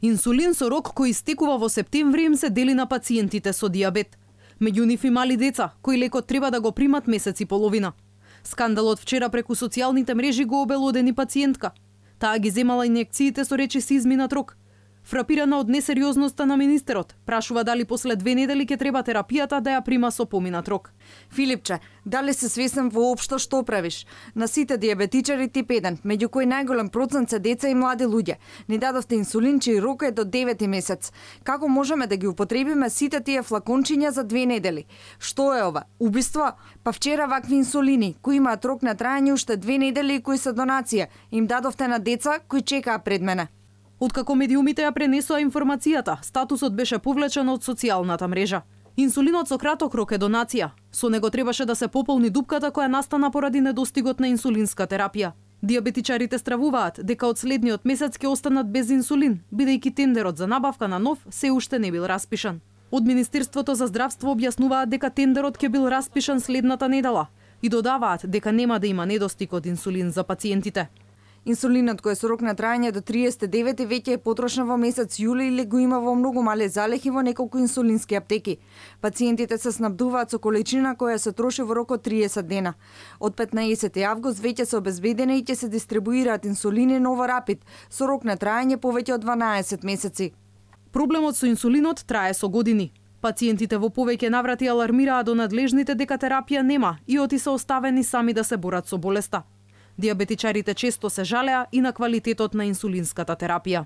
Инсулин со рок кој истекува во септември им се дели на пациентите со дијабет. Меѓу нив и мали деца, кои лекот треба да го примат месец и половина. Скандалот вчера преку социјалните мрежи го обелодени пациентка. Таа ги земала инјекциите со речиси изминат рок. Фрапирана од несериозноста на министерот, прашува дали после 2 недели ќе треба терапијата да ја прима со поминат рок. Филипче, дали се свесен воопшто што правиш? На сите диабетичари тип 1, меѓу кои најголем процент се деца и млади луѓе, ни дадовте инсулин чиј рок е до 9 месец. Како можеме да ги употребиме сите тие флакончиња за 2 недели? Што е ова? Убиство? Па вчера вакви инсулини, кои имаат рок на траење уште 2 недели и кои се донација, им дадовте на деца кои чекаа пред мене. Откако медиумите ја пренесоа информацијата, статусот беше повлечен од социјалната мрежа. Инсулинот со краток рок е донација. Со него требаше да се пополни дупката која настана поради недостигот на инсулинска терапија. Диабетичарите стравуваат дека од следниот месец ќе останат без инсулин, бидејќи тендерот за набавка на нов се уште не бил распишан. Од Министерството за здравство објаснуваат дека тендерот ќе бил распишан следната недела и додаваат дека нема да има недостиг од инсулин за пациентите. Инсулинот кој е со рок на траење до 39 веќе е потрошен во месец јули или го има во многу мале залехи во неколку инсулински аптеки. Пациентите се снабдуваат со количина која се троши во рок од 30 дена. Од 15 август веќе се обезбедени и ќе се дистрибуираат инсулини Новорапид со рок на траење повеќе од 12 месеци. Проблемот со инсулинот трае со години. Пациентите во повеќе наврати алармираа до надлежните дека терапија нема и оти се оставени сами да се борат со болеста. Диабетичарите често се жалеа и на квалитетот на инсулинската терапија.